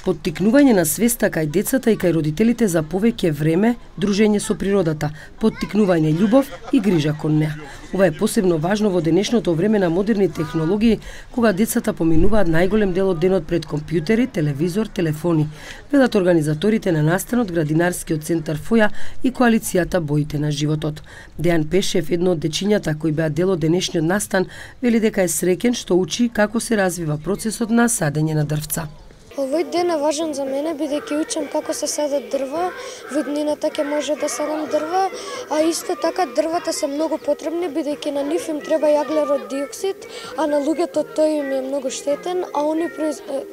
Поттикнување на свеста кај децата и кај родителите за повеќе време, дружење со природата, поттикнување љубов и грижа кон неа. Ова е посебно важно во денешното време на модерни технологии, кога децата поминуваат најголем дел од денот пред компјутери, телевизор, телефони, велат организаторите на настанот Градинарскиот центар Фоја и коалицијата Боите на животот. Дејан Пешев, едно од дечињата кои беа дел од денешниот настан, вели дека е среќен што учи како се развива процесот на садење на дрвца. Овој ден е важен за мене, бидејќи учам како се садат дрва, во иднината ќе може да садам дрва, а исто така дрвата се многу потребни, бидејќи на нив им треба јаглерод диоксид, а на луѓето тој им е многу штетен, а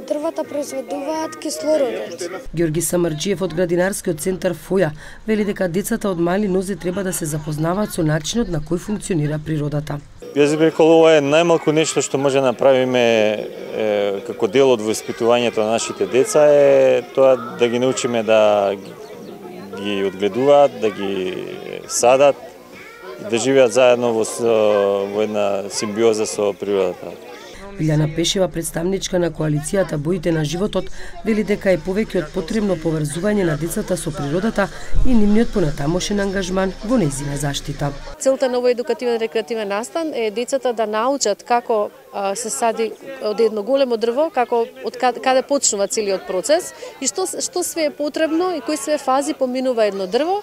дрвата произведуваат кислородот. Ѓорги Самарџиев од Градинарскиот центар Фоја вели дека децата од мали нозе треба да се запознаваат со начинот на кој функционира природата. Јас би рекол, ова е најмалку нешто што може да направиме како дел од воспитувањето на нашите деца е тоа да ги научиме да ги одгледуваат, да ги садат и да живеат заедно во една симбиоза со природата. Илјана Пешева, представничка на коалицијата Боите на животот, вели дека е повеќе од потребно поврзување на децата со природата и нивниот понатамошен ангажман во нејзина заштита. Целта на овој едукативен рекреативен настан е децата да научат како се сади од едно големо дрво, како од каде почнува целиот процес и што све е потребно и кои све фази поминува едно дрво,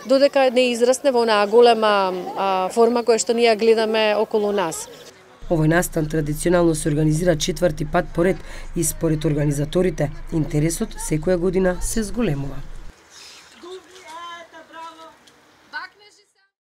додека не израсне во онаа голема форма која што ние гледаме околу нас. Овој настан традиционално се организира 4-ти пат поред и според организаторите, интересот секоја година се зголемува.